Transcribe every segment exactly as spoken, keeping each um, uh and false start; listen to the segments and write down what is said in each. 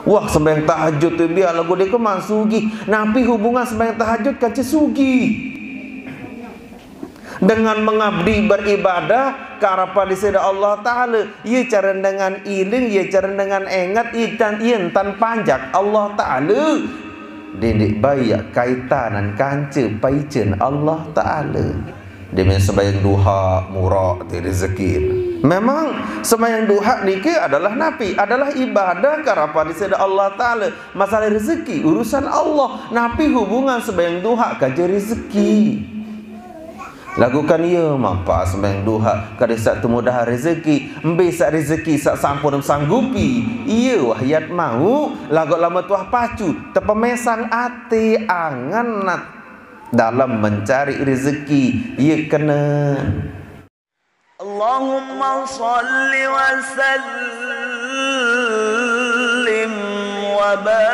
Wah, sembahyang tahajud tu biar lagu dia ke mak sugih. Napi hubungan sembahyang tahajud kance sugih? Dengan mengabdi beribadah ka harapan Ida Allah Taala, ia cara dengan iling, ia cara dengan engat, ia tan, ia tan panjak Allah Taala. Didik baik kaitanan kance paicen Allah Taala. Demian sembahyang duha murah ti rezeki. Memang sembahyang duha niki adalah napi? Adalah ibadah ka harapan Ida Allah Taala. Masalah rezeki urusan Allah. Napi hubungan sembahyang duha kance rezeki? Lagukan ia mapa sembahyang duha kada sak temudahan rezeki, embe sak rezeki sak sampun sanggupi. Ia wah yat mau, lagu lama tuah pacu, tepemesang ati angan nat dalam mencari rezeki ia kena. اللهم صل وسلم وبارك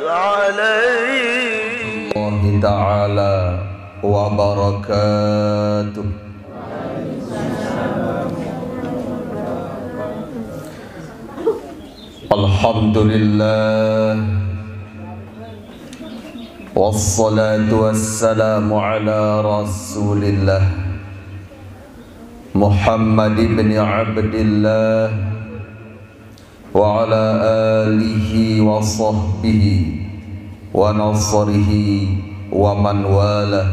عليه. الله تعالى وبركاته. الحمد لله. والصلاة والسلام على رسول الله محمد بن عبد الله وعلى آله وصحبه ونصره ومن والاه.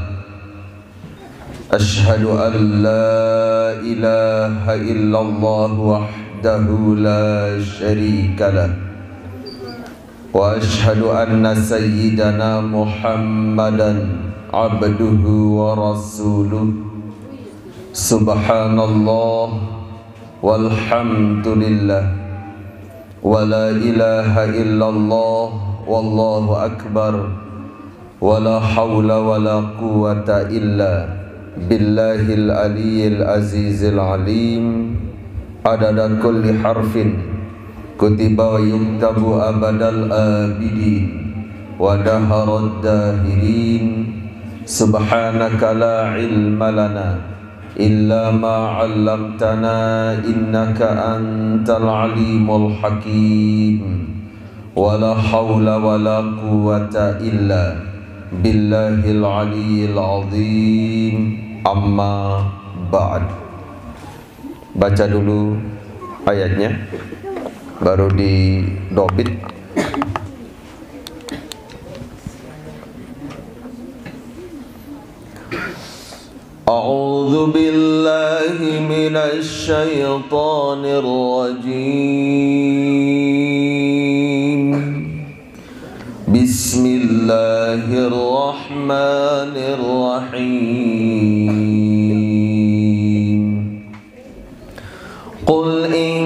أشهد أن لا إله إلا الله وحده لا شريك له، وأشهد أن سيدنا محمدا عبده ورسوله. سبحان الله والحمد لله ولا إله إلا الله والله أكبر. ولا حول ولا قوة إلا بالله العلي العزيز العليم. عدد كل حرف كتب ويكتب أبد الآبدين ودهر الداهرين. سبحانك لا علم لنا إلا ما علمتنا إنك أنت العليم الحكيم. ولا حول ولا قوة إلا بالله العلي العظيم. أما بعد. Baca dulu ayatnya, baru didobit. أعوذ بالله من الشيطان الرجيم. بسم الله الرحمن الرحيم. قل إن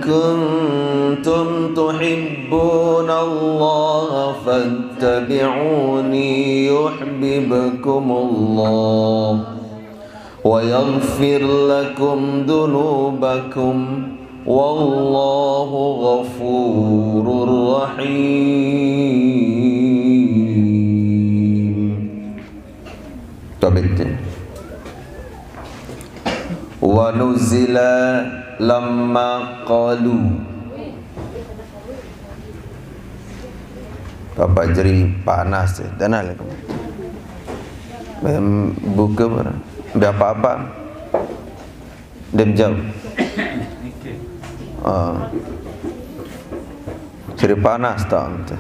كنتم تحبون الله فاتبعوني يحببكم الله ويغفر لكم ذنوبكم والله غفور رحيم. Tabitin. Wa nuzila lamma qalu. Bapak jeri panas tu. Tanah lagi. Em, buka ber-, berapa apa? Dem jam. Ah. Jeri panas tak?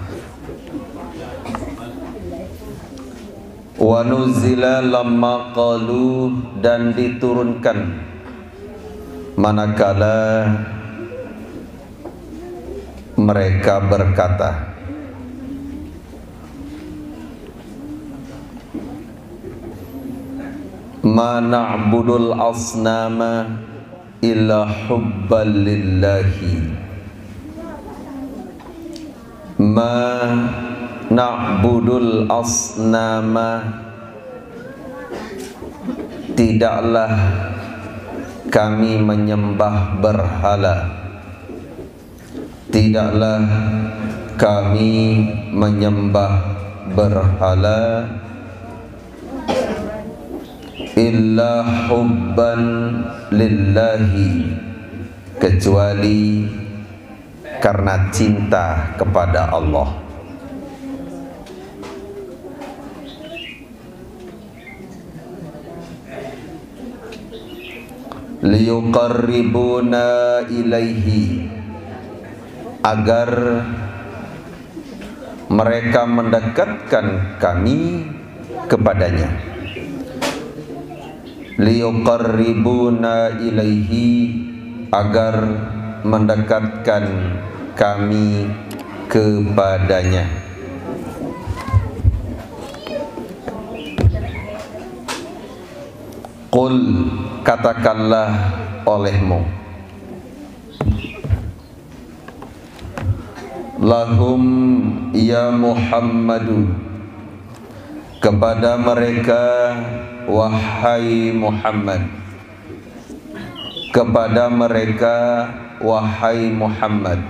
Wa nuzila lamma qalu, dan diturunkan manakala mereka berkata, ma na'budul asnama illa hubban lillahi. Ma na'budul asnama, tidaklah kami menyembah berhala. Tidaklah kami menyembah berhala. illa hubban lillahi, kecuali karena cinta kepada Allah. Liyuqarribuna ilaihi, agar mereka mendekatkan kami kepadanya. Liyuqarribuna ilaihi, agar mendekatkan kami kepadanya. Qul, katakanlah olehmu. Lahum, ya Muhammadu, kepada mereka, wahai Muhammad, kepada mereka, wahai Muhammad.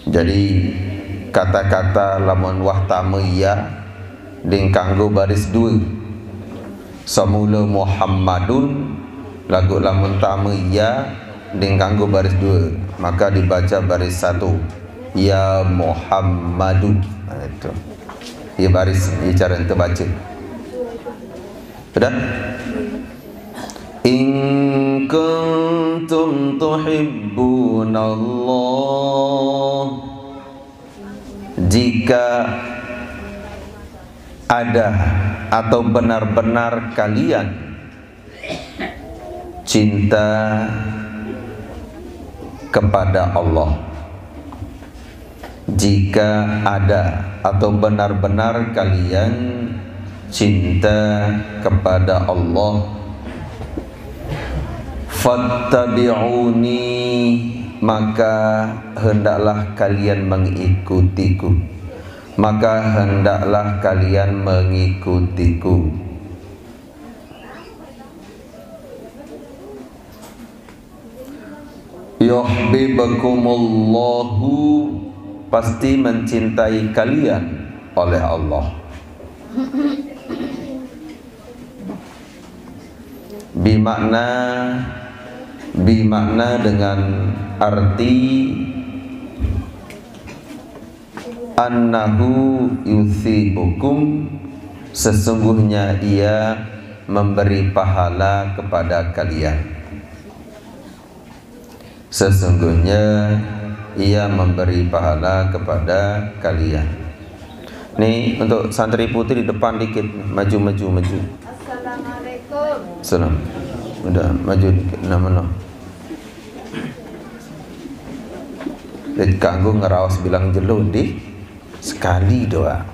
Jadi, kata-kata lamun wah tama ya, ding kanggo baris dua. Samula Muhammadun, lagu lamun tama ya, ding kanggo baris dua, maka dibaca baris satu. Ya Muhammadu. Nah, itu. Ya baris, ya cara ente baca. Sudah? In kuntum tuhibbunallah, jika ada atau benar-benar kalian cinta kepada Allah. Jika ada atau benar-benar kalian cinta kepada Allah, fattabi'uni, maka hendaklah kalian mengikutiku. Maka hendaklah kalian mengikutiku. Yuhibbukumullahu, pasti mencintai kalian oleh Allah. Bimakna, bimakna dengan arti annahu yusibukum, sesungguhnya ia memberi pahala kepada kalian. Sesungguhnya ia memberi pahala kepada kalian. Nih, untuk santri putri di depan dikit, maju, maju, maju. Assalamualaikum. Salam. Udah, maju dikit, nama no. Kanggo ngeraos bilang jelo di sekali doang.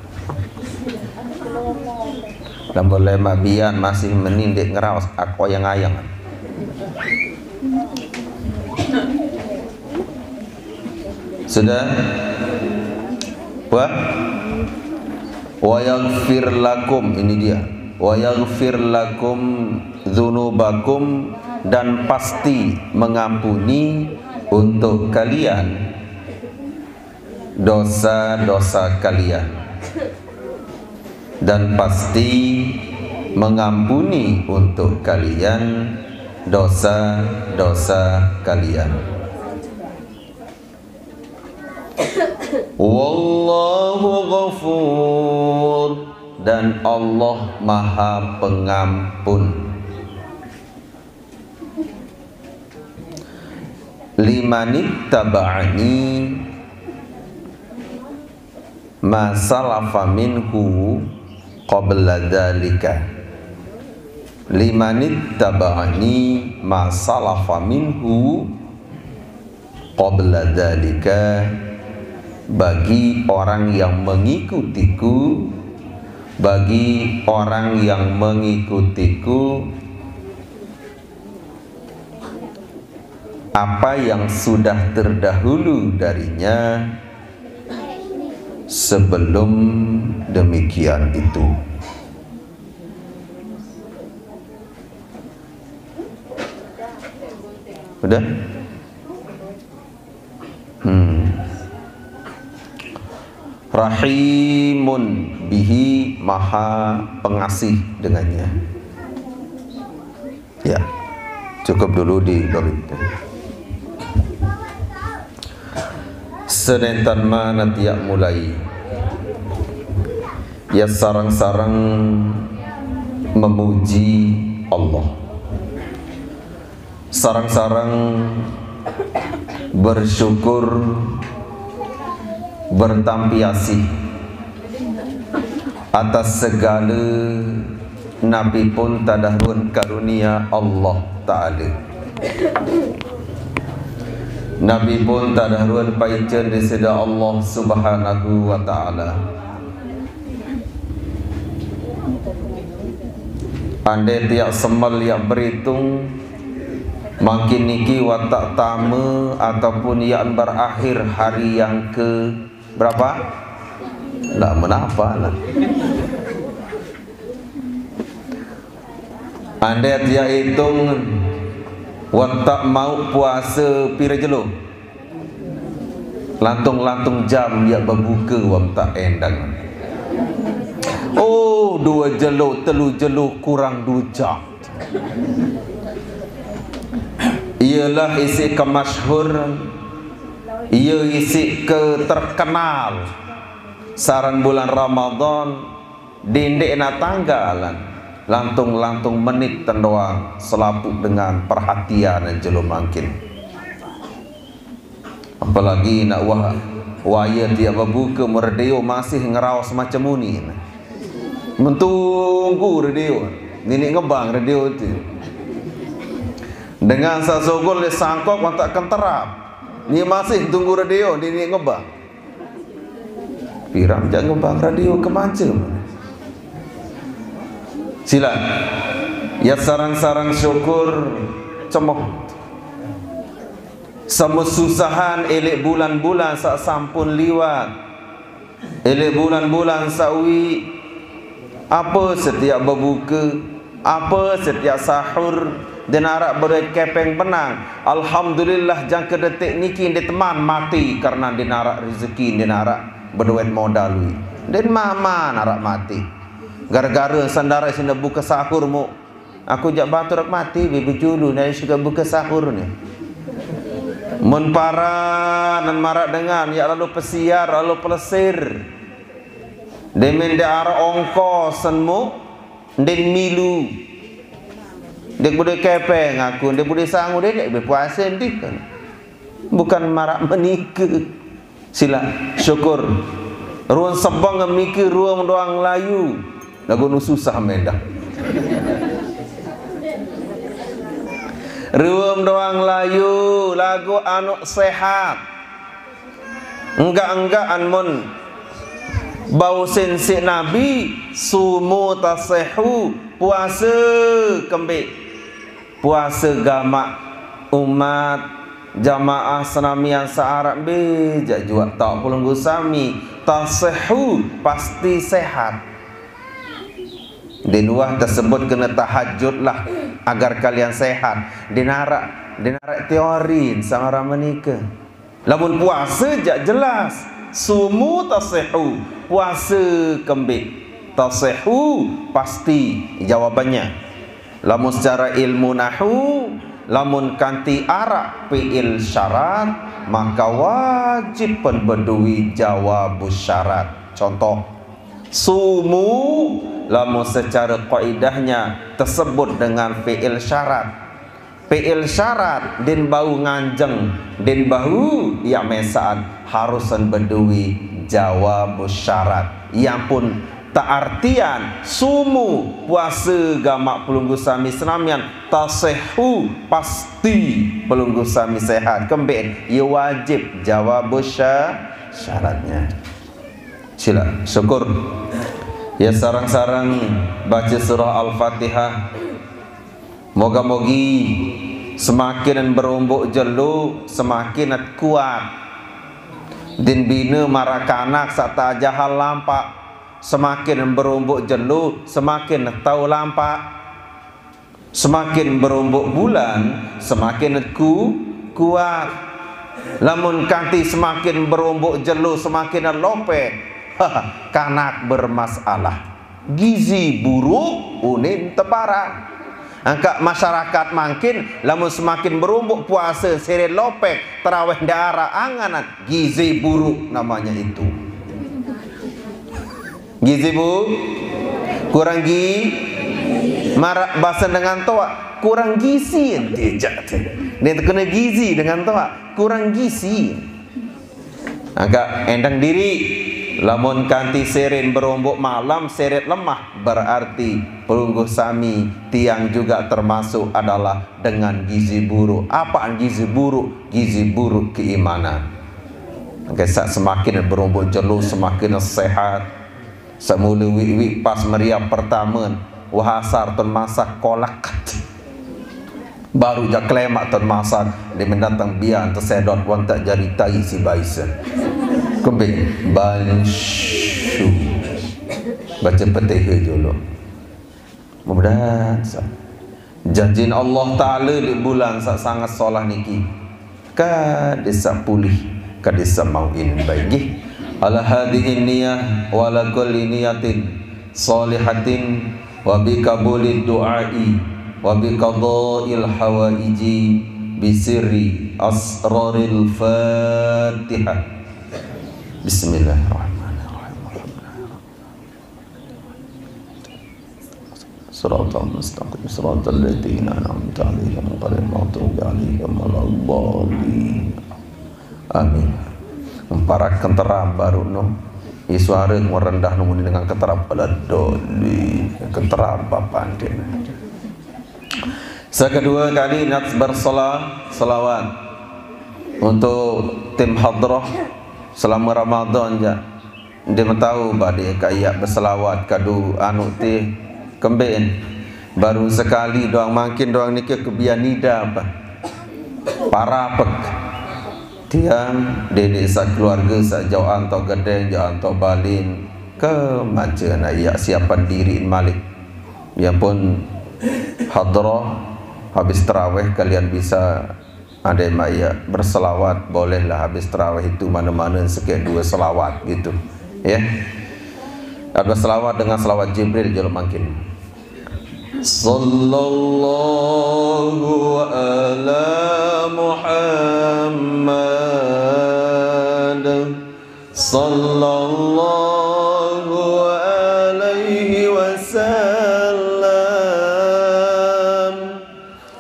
Lamun lemak bian masih meni ndeq ngeraos, aku yang ayang. Sudah? Wah? Wa yaghfir lakum, ini dia. Wa yaghfir lakum dzunubakum, dan pasti mengampuni untuk kalian dosa-dosa kalian, dan pasti mengampuni untuk kalian dosa-dosa kalian. Wallahu ghafur, dan Allah Maha Pengampun. Limanittaba'ani ma salafa minhu qabla dzalika. Limanittaba'ani ma salafa minhu qabla dzalika, bagi orang yang mengikutiku, bagi orang yang mengikutiku, apa yang sudah terdahulu darinya sebelum demikian itu. Udah? Hmm. Rahimun bihi, maha pengasih dengannya. Ya, cukup dulu di bab itu. Sedentan mana tiap mulai, ya, sarang-sarang memuji Allah. Sarang-sarang bersyukur, bertampiasih atas segala napi pun tadahruan karunia Allah Ta'ala. Napi pun tadahruan paican disida Allah Subhanahu wa Ta'ala. Andai tiap semel ia beritung, mangkin niki watak tama ataupun ia berakhir hari yang ke berapa? Lah, menapa lah. Andai tiap itung, watak mau puasa pira jelo? Lantung-lantung jam ia bebuka, wang tak endang. Oh, dua jelo, telu jelo, kurang dua jam. Ialah isi ke masyhur, ia isi ke terkenal. Saran bulan Ramadan, dindek na tanggalan, lantung-lantung menit tendoang selaput dengan perhatian jelo mangkin. Apalagi nak wah, waya tiap bebuka, meredio masih ngeraos macam muni. Mentunggu redio, nini ngebang redio tu. Dengan sasogol le sangkok, wang tak kenterap. Ni masih tunggu redio, nini ngebang. Piran jak ngebang radio ke macam. Sila. Ya, sarang-sarang syukur cemoh. Sama susahan elek bulan-bulan sak sampun liwat. Elek bulan-bulan sak wi. Apa setiap bebuka, apa setiap sahur, dinarak beduit kepeng benang. Alhamdulillah, jangka detik niki ndeteman mati karena dinarak rezeki, dinarak beduit modal wi. Den mama narak mati. Gara-gara sandara sina buka sahur mu. Aku jak batur mati, bi bejulu, nai suka buka sahur ni. Mun para nan marak dengan, ya lalu pesiar, lalu pelesir. Demen de arah ongkos sen mu, den milu. Dek bude kepeng aku, dek bude sangu, dek, dek be puasa, dek kan. Bukan marak menikah. Sila, syukur. Ruang sebang miki, ruang doang layu. Lagu nu susah mendah. Ruang doang layu, lagu anu sehat. Enggak-enggak an mun bau sensik Nabi, sumu tasehu, puasa kembik. Puasa gamak umat jamaah senamian searap be, jak juak tak pelunggu sami, tasehu, pasti sehat. Di luar tersebut kena tahajudlah agar kalian sehat. Dinarak, dinarak teori sama orang menikah. Lamun puasa jak jelas, sumu tasehu, puasa kembik. Tasehu pasti jawabannya. Lamun secara ilmu nahu, lamun kanti arak fi'il syarat, maka wajib pen bedui jawab syarat. Contoh, sumu, lamun secara kaidahnya tersebut dengan fi'il syarat. Fi'il syarat, din bau nganjeng, din bau ia mesaan, harusan bedui jawab syarat. Ia pun tak artian sumu, puasa gamak pelunggu sami senamian, tasehu, pasti pelunggu sami sehat. Kembik, ia wajib jawab sya-, syaratnya. Sila, syukur. Ya, sarang-sarang baca surah Al-Fatihah. Moga-mogi semakin berombok jelo, semakin kuat. Din bina marakanak sak tajahal lampak. Semakin berombok jelo, semakin tau lampak. Semakin berombok bulan, semakin ku-, kuat. Lamun kanti semakin berombok jelo, semakin lope, Kanak bermasalah. Gizi buruk unin teparan. Angka masyarakat mangkin, lamun semakin berumbuk puasa, seret lopek, terawih ndak arap, anganan, gizi buruk namanya itu. Gizi bu, kurang gi, marak bahasa dengan toa, kurang gizi ente jak tu. Dia terkena gizi dengan toa, kurang gizi. Angka endang diri, lamun kanti seret berombok malam, seret lemah, berarti pelungguh sami tiang juga termasuk adalah dengan gizi buruk. Apaan gizi buruk? Gizi buruk keimanan. Angka sak semakin berombok jelo, semakin sehat. Semula wik-wik pas meriap pertama, wah asar tun masak kolak. Baru jak kelemak tun masak, dia mendatang biar tersedot wan tak jari tai si baisa. Kembe, bansyu. Baca Fatihah dulu. Mudah-mudahan sa-, janjin Allah Ta'ala di bulan sa-, sangat solah niki. Ka desa pulih, ka desa mau in baik. Ala hadhihi niyah wa ala kulli niyatin salihatin wa bi qabulid du'ai wa bi qadail hawaiji bi sirri asraril Fatihah. Bismillahirrahmanirrahim. Siratal mustaqim, siratal ladzina an'amta 'alaihim, ghairil maghdubi 'alaihim waladdallin. Amin. Memparak kenteram baru no. I suara merendah no dengan kenteram, waladdallin. Kenteram apa antin. Sekedua kali nak bersolah, selawat untuk tim hadrah selama Ramadan ja. Dia tahu bade ka iya berselawat kadu anu ti kemben. Baru sekali doang mangkin doang niki kebian nida apa. Parapek. Tiang dede sa keluarga sa jauh anto gedeng, jauh anto balin. Ke maca na iya siapan diri malik. Ia pun hadrah habis terawih kalian bisa ada yang maya berselawat, bolehlah habis terawih itu mana-mana sikit dua selawat gitu. Ya. Ada selawat dengan selawat Jibril jolo mangkin. Sallallahu ala Muhammad. Sallallahu alaihi wasallam.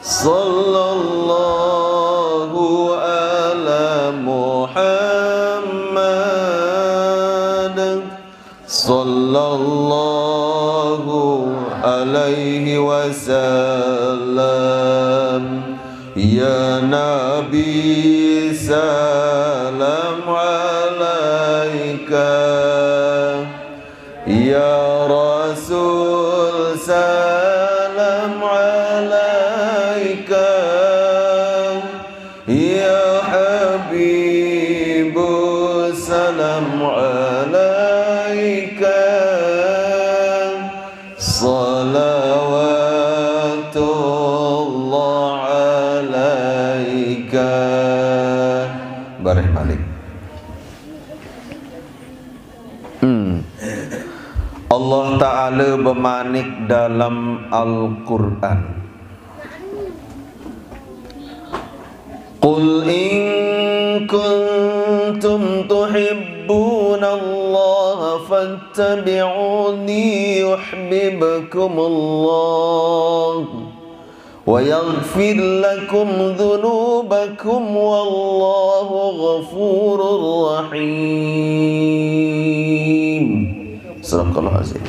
Sallallahu ala Muhammad. Sallallahu alaihi wasallam. Ya Nabi, salam alaika. Ya Rasul, salam alaika. Ya Habibu, salam alaika. Salawatullah alaika. Bareh malik. Hmm. Allah Ta'ala bemanik dalam Al-Quran. Qul in kuntum tuhibbunallaha fattabi'uni yuhibbukumullah. Wa yaghfir lakum dzunubakum wallahu ghafurur rahim. Sadaqallahul azim.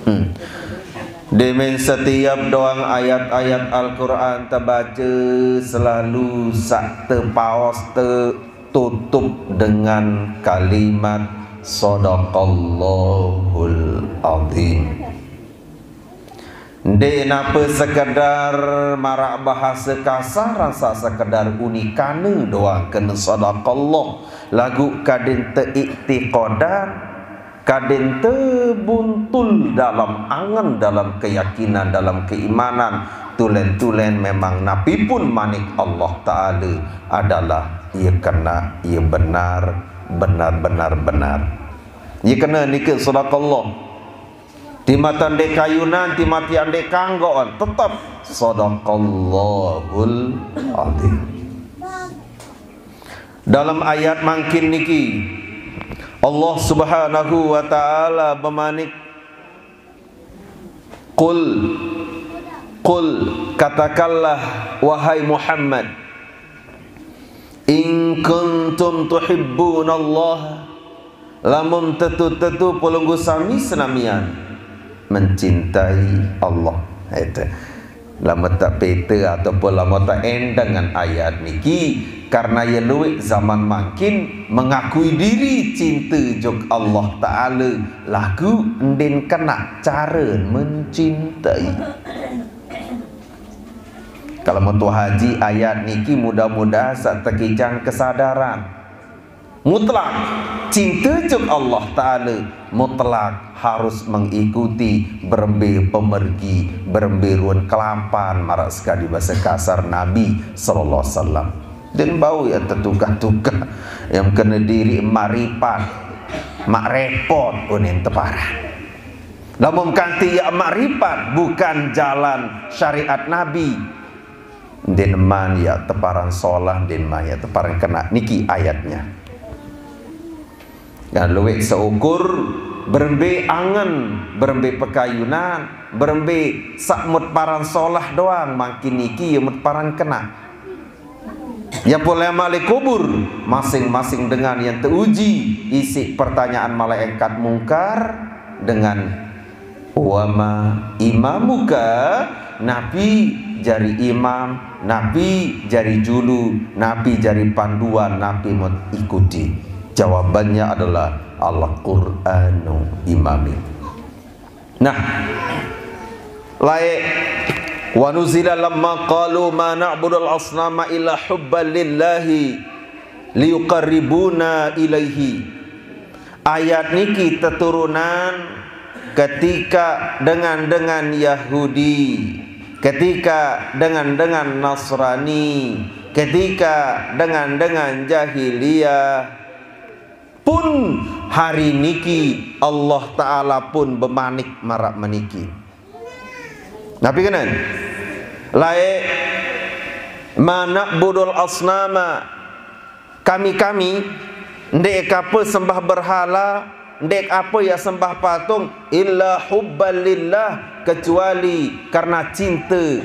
Hmm. Demen setiap doang ayat-ayat Al-Quran terbaca selalu sak tepaos tertutup dengan kalimat Sadaqallahul azim. Ndeq nape sekedar maraq bahase kasar, rasa sekedar unikane doang kene sadaqallah, laguq kadin teiktiqodan, kadin tebuntul dalam angen, dalam keyakinan, dalam keimanan, tulen-tulen memang napi pun manik Allah Taala adalah ie kenaq, ie benar, benar-benar benar. Ye kena niki sadaqallah. Timatan dek kayunan, timatan dek kanggoan, tetap sadaqallahul azim. Dalam ayat mangkin niki, Allah Subhanahu wa Ta'ala bemanik, "Qul, qul, katakanlah, wahai Muhammad, in kuntum tuhibbunallah, lamun tetu-tetu pelungguh sami senamian mencintai Allah." Itu. Lamun tak pete ataupun lamun tak endeng dengan ayat niki, karena ye luwek zaman mangkin mengakui diri cinta jok Allah Ta'ala, lagu ndin kena cara mencintai. Kalau metu haji ayat niki, mudah-mudahan sak tekijang kesadaran mutlak. Cinta jok Allah Ta'ala mutlak harus mengikuti berembe pemergi, berembe ruen kelapan, marak sekadi bahasa kasar Nabi sallallahu alaihi wasallam. Dan bau ya tetukah-tukah yang kena diri maripat, mak repot unin teparah. Lamun kanti ya maripat bukan jalan syariat Nabi, din man ya teparan solah, din man ya teparan kena. Niki ayatnya. Dan luwek seukur berembe angen, berembe pekayunan, berembe sak mut paran solah doang, mangkin niki ya mut paran kena. Ya pulai malik kubur, masing-masing dengan yang teuji isi pertanyaan malaikat mungkar dengan, "Wama imamuka?" Napi jari imam, napi jari julu, napi jari panduan, napi mut ikuti? Jawabannya adalah Al-Qur'anu imami. Nah, lae, "Wa nuzila lamma qalu ma na'budul asnama illa hubban lillahi liyuqarribuna ilaihi." Ayat niki teturunan ketika dengan-dengan Yahudi, ketika dengan-dengan Nasrani, ketika dengan-dengan jahiliyah. Pun hari niki Allah Ta'ala pun bemanik marak meniki. Napi kenen? Lae, "Ma na'budul asnama." Kami-kami, ndek apa sembah berhala, ndek apa ya sembah patung, illa hubban lillah, kecuali karena cinta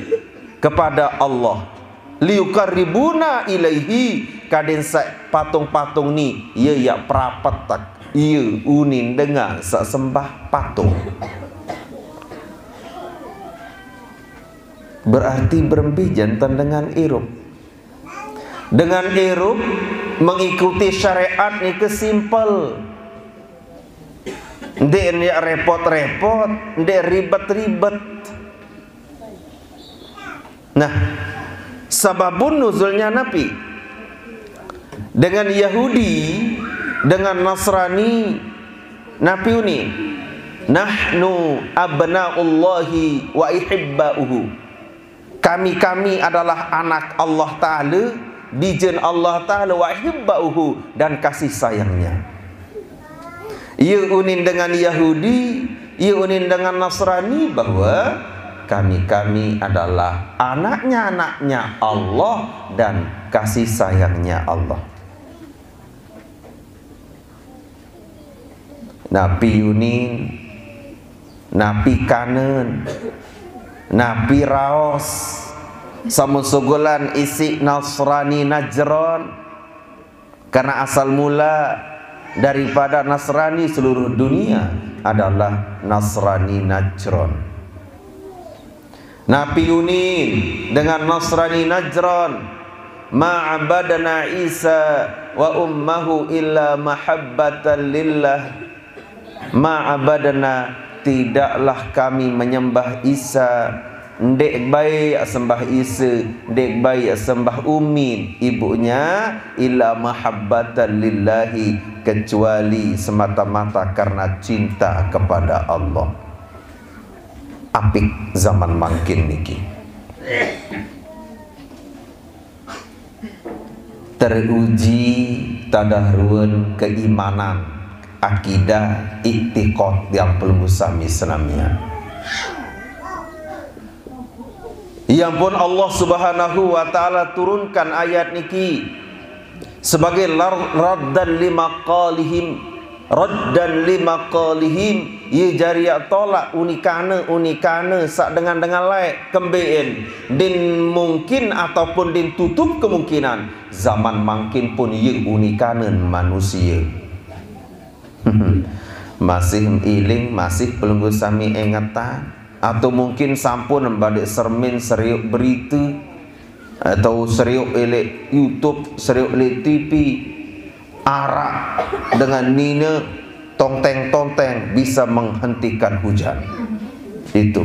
kepada Allah. Liuqarribuna ilaihi, kaden sa patung-patung ni, ye ya perapetak, ye unin dengan sa sembah patung. Berarti berembe jantan dengan irup. Dengan irup mengikuti syariat nike simple. Ndek, ndek repot-repot, ndek ribet-ribet. Nah, sababun nuzulnya napi? Dengan Yahudi, dengan Nasrani, napi uni? "Nahnu abnaullahi wa ihibbauhu." Kami-kami adalah anak Allah Ta'ala, bijen Allah Ta'ala, wa ihibbauhu, dan kasih sayangnya. Ia unin dengan Yahudi, ia unin dengan Nasrani, bahwa kami-kami adalah anaknya-anaknya Allah dan kasih sayangnya Allah. Napi unin, napi kanen, napi raos, samun sugulan isi Nasrani Najran. Karena asal mula daripada Nasrani seluruh dunia adalah Nasrani Najran. Napi unin dengan Nasrani Najran, "Ma abadna Isa wa ummahu illa mahabbatan lillah." "Ma abadna," tidaklah kami menyembah Isa, ndek bae sembah Isa, ndek bae sembah umin ibunya, "illa mahabbatan lillahi," kecuali semata-mata karena cinta kepada Allah. Apik zaman mangkin niki. Teruji tadah ruen keimanan. akidah, iktikad yang pelungguh sami senamian. Yang pun Allah Subhanahu wa Ta'ala turunkan ayat niki sebagai lar-, raddan lima qalihim, raddan lima qalihim, ia jari tolak unikana, unikana sak dengan-dengan lain kembeen, din mungkin ataupun din tutup kemungkinan zaman mangkin pun ia unikana manusia. Masih iling, masih pelungguh sami ingetan, atau mungkin sampun badik sermin seriuk berita, atau seriuk elek YouTube, seriuk elek T V, arak dengan nina tonteng-tonteng bisa menghentikan hujan. Itu.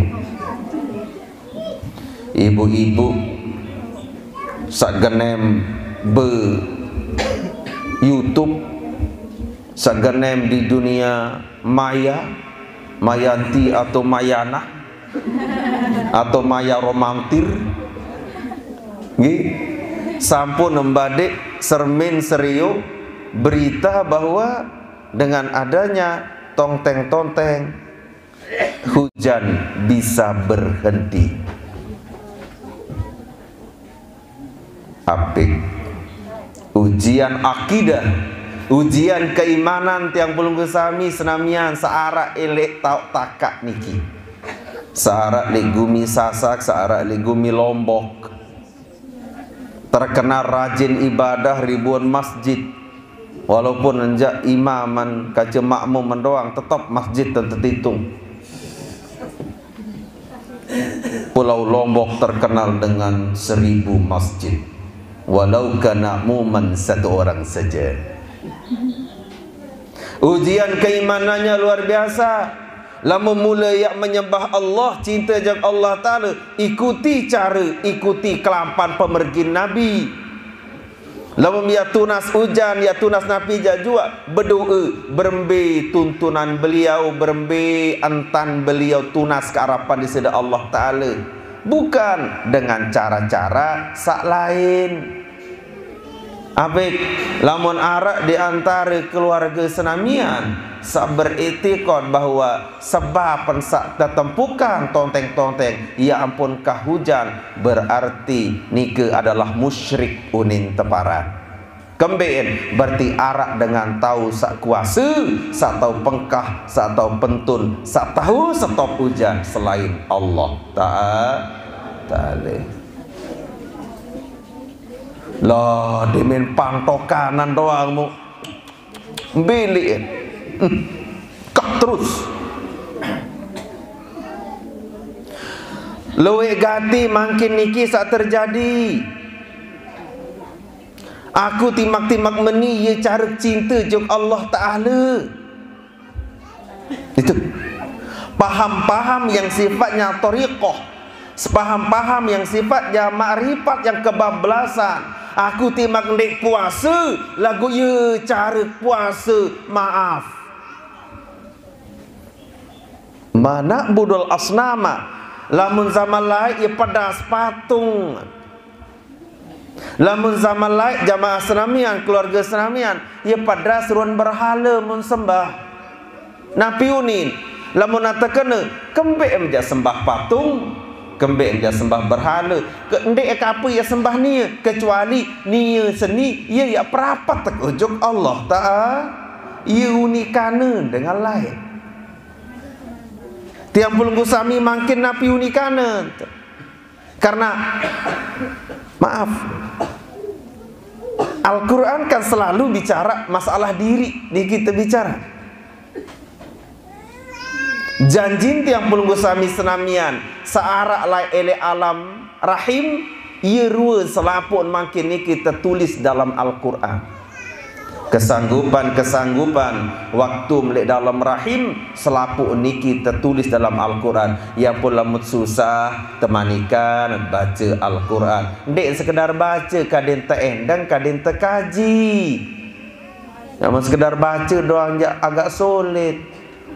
Ibu-ibu sak genem be YouTube, sak genem di dunia maya, Mayanti atau Mayana atau Maya Romantir, nggih, sampun nembadik sermin serio berita bahwa dengan adanya tonteng-tonteng, hujan bisa berhenti. Apik. Ujian akidah, ujian keimanan tiang pelungguh sami senamian searak elek tauk takak niki. Searak lek gumi Sasak, searak lek gumi Lombok. Terkenal rajin ibadah ribuan masjid. Walaupun enjak imaman kaca makmum mendoang, tetap masjid dan tetitung. Pulau Lombok terkenal dengan seribu masjid. Walau kana muman satu orang saja. Ujian keimanannya luar biasa. Lamun mula ia menyembah Allah, cinta jeng Allah Ta'ala, ikuti cara, ikuti kelampan pemergin Nabi. Lamun ia tunas ujan, ia tunas napi jak juak, berdoa, berembe tuntunan beliau, berembe entan beliau tunas kearapan di sida Allah Ta'ala. Bukan dengan cara-cara sak lain. Apik, lamun arak di antara keluarga senamian sak beriktikad bahwa sebab sak tetempukan tonteng-tonteng, ia ampun kah hujan, berarti nika adalah musyrik unin teparan. Kembeen, berarti arak dengan tau sak kuasa, sak tau pengkah, sak tau pentun, sak tau stop hujan selain Allah Ta'a-, Ta'ala. Lah, dimin pangtokanan doang mu. Bilik. Hmm. Kak terus. Luwek gati mangkin niki sak terjadi. Aku timak-timak meni ia cara cinta jok Allah Ta'ala. Itu. Paham-paham yang sifatnya thariqah, sepaham-paham yang sifatnya makrifat yang kebablasan. Aku timak ndik puasa, lagu ia cara puasa, maaf. Mana budul asnama, lamun zaman laik ia pedas patung. Lamun zaman laik jamaah senamian, keluarga senamian, ia pedas ruan berhala mun sembah. Napi unin, lamun nata kena, kembek em jak sembah patung, kembek em jak sembah berhala, ke ndik ke apa ia sembah nia, kecuali nia seni, ia ia perapat tek ujuk Allah Ta'ala, ia unikana dengan lain. Tiang pelunggu sami mangkin napi unikana. Karena, maaf, Al-Quran kan selalu bicara masalah diri, di kita bicara. Janjin tiang pelunggu sami senamian, searak lai elek alam rahim, ia rua selaput mangkin niki tertulis dalam Al-Quran. Kesanggupan-kesanggupan waktu melek dalam rahim, selapuh niki tertulis dalam Al-Quran. Ia pun lamun susah, temanikan baca Al-Quran. Ndik sekedar baca, kadin teendeng, kadin tekaji. Namun sekedar baca doang ja agak sulit.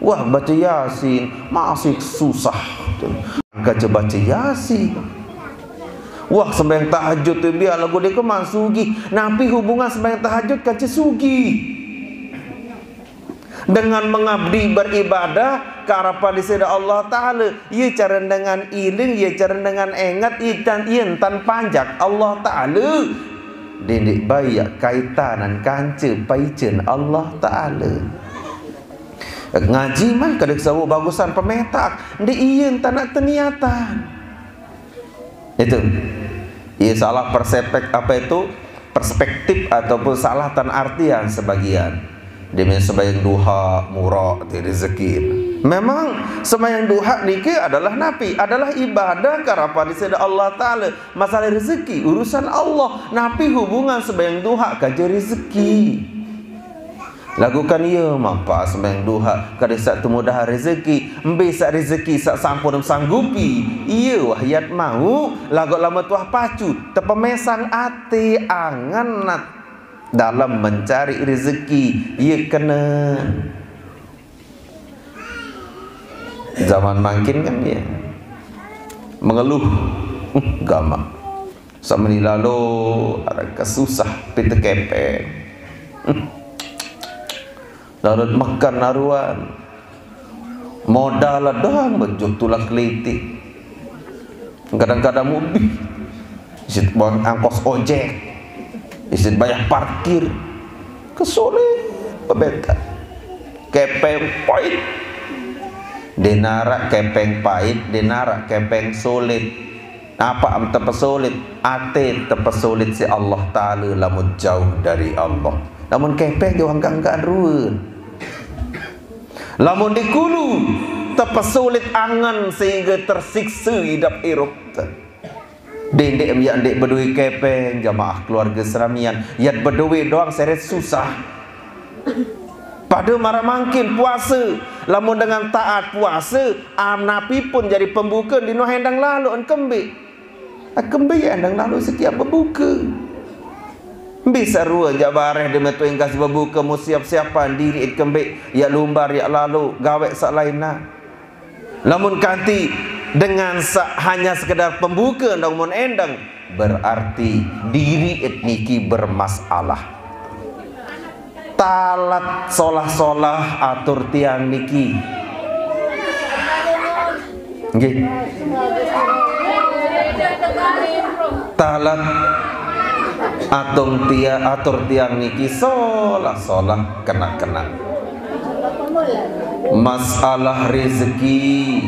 Wah, baca Yasin masih susah. Kaca baca Yasin. Wah, sembahyang tahajud tu biar lagu dia keman sugih. Napi hubungan sembahyang tahajud kaca sugih? Dengan mengabdi beribadah ka harapan Disitu Allah Ta'ala, iye cara dengan iling, iye cara dengan enget, iye tan, iye tan panjak Allah Ta'ala. Dendeq bae kaitanan kance paijen Allah Ta'ala. Ngaji mah kada sawuq bagusan pemetak, ndeq iye tan teniatan. Itu. Iye salah persepek-, apa itu? Perspektif ataupun salah tan artian sebagian. Demi sembahyang duha, murah, di rezeki. Memang sembahyang duha niki adalah napi? Adalah ibadah ka harapan Disitu Allah Ta'ala. Masalah rezeki, urusan Allah. Napi hubungan sembahyang duha kance rezeki? Laguq kan iye mapa sembahyang duha, kada saq temudahan rezeki, mbe saq rezeki saq sampun sanggupi, iye wah yat mauq, laguq lamun tuah pacu, tepemesang ate angen nat dalem mencari rezeki, iye kene. Zaman mangkin kan iye mengeluh, gamaq. Semeni lalo araq kesusah pite kepeng. Lalut mekan aruan. Modal doang bejuk tulak kelitik. Kadang-kadang mubih. Isit bang angkos ojek. Isit bayar parkir. Kesulit pebeta. Kepeng pait. Denaraq kepeng pait, denaraq kepeng sulit. Apa am tepesulit? Ate tepesulit siq Allah Taala lamun jauh dari Allah. Lamun kepeng jauh angkaq-angkaqan ruen. Lamun di kulu tepesulit angen sehingga tersiksa idap irup te. Dendeq miaq ndeq bedowe kepeng, jamaah keluarge senamian, yat bedowe doang seret susah. Pade maraq mangkin puase, lamun dengan taat puase, am napi pun jari pembuke ndin wah endang lalo en kembeq. Kembeq endang lalo setiap bebuke. Mbe sarue jaq bareh de metu engkas bebuke mu siap-siapan diriq kembeq, yaq lumbar, yaq lalo, gaweq saq lainna. Lamun kanti dengan saq hanya sekedar pembuke ndang mun endang, berarti diriq niki bermasalah. Talat solah-solah atur tiang niki. Nggih. Talat atung tia-, atur tiang niki solah-solah kenaq-kenaq. Masalah rezeki.